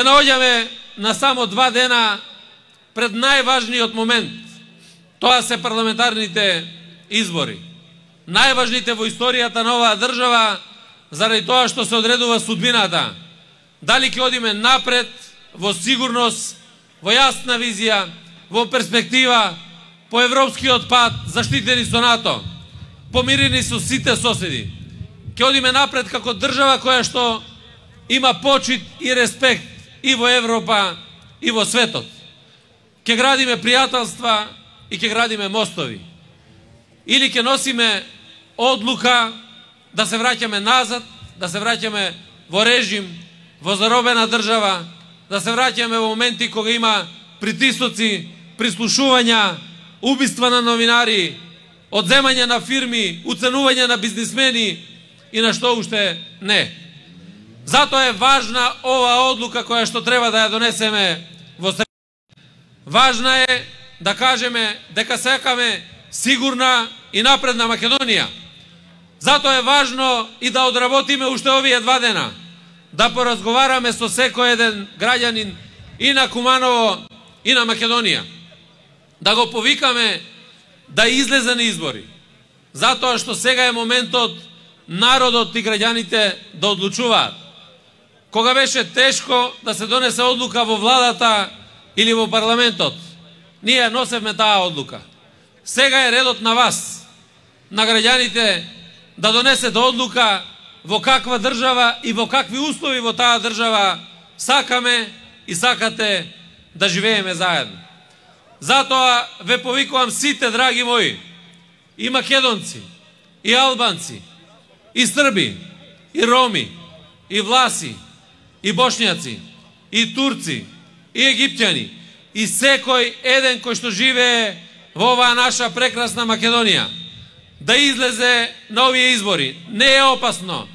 наоѓаме на само 2 дена пред најважниот момент. Тоа се парламентарните избори. Најважните во историјата на оваа држава, заради тоа што се одредува судбината. Дали ќе одиме напред, во сигурност, во јасна визија, во перспектива, по европскиот пат, заштитени со НАТО, помирени со сите соседи. Ќе одиме напред како држава која што има почит и респект и во Европа, и во светот. Ќе градиме пријателства и ќе градиме мостови. Или ќе носиме одлука да се враќаме назад, да се враќаме во режим, во заробена држава, да се враќаме во моменти кога има притисоци, прислушувања, убиства на новинари, одземање на фирми, уценување на бизнисмени и на што уште не. Затоа е важна ова одлука која што треба да ја донесеме во среда. Важна е да кажеме дека сакаме сигурна и напредна Македонија. Затоа е важно и да одработиме уште овие 2 дена, да поразговараме со секој еден граѓанин и на Куманово и на Македонија. Да го повикаме да излезе на избори. Затоа што сега е моментот народот и граѓаните да одлучуваат. Кога беше тешко да се донесе одлука во владата или во парламентот, ние носевме таа одлука. Сега е редот на вас, на граѓаните, да донесете одлука во каква држава и во какви услови во таа држава сакаме и сакате да живееме заедно. Затоа ве повикувам сите, драги мои, и македонци, и албанци, и срби, и роми, и власи, и бошњаци, и турци, и египтјани, и секој еден кој што живее во оваа наша прекрасна Македонија, да излезе на овие избори. Не е опасно.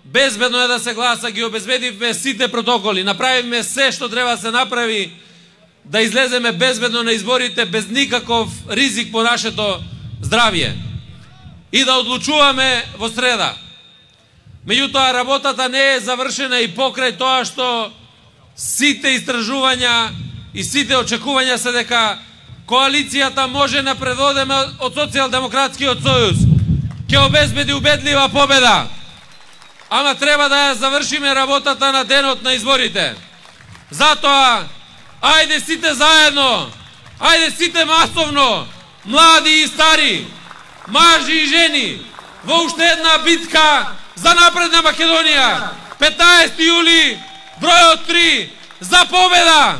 Безбедно е да се гласа, ги обезбедивме сите протоколи, направивме се што треба да се направи, да излеземе безбедно на изборите, без никаков ризик по нашето здравје. И да одлучуваме во среда. Меѓутоа, работата не е завршена и покрај тоа што сите истражувања и сите очекувања се дека коалицијата може напредодеме од Социјалдемократскиот сојуз, ќе обезбеди убедлива победа. Ама треба да ја завршиме работата на денот на изборите. Затоа, ајде сите заедно, ајде сите масовно, млади и стари, мажи и жени, во уште една битка за напредна Македонија. 15 јули, бројот 3, за победа!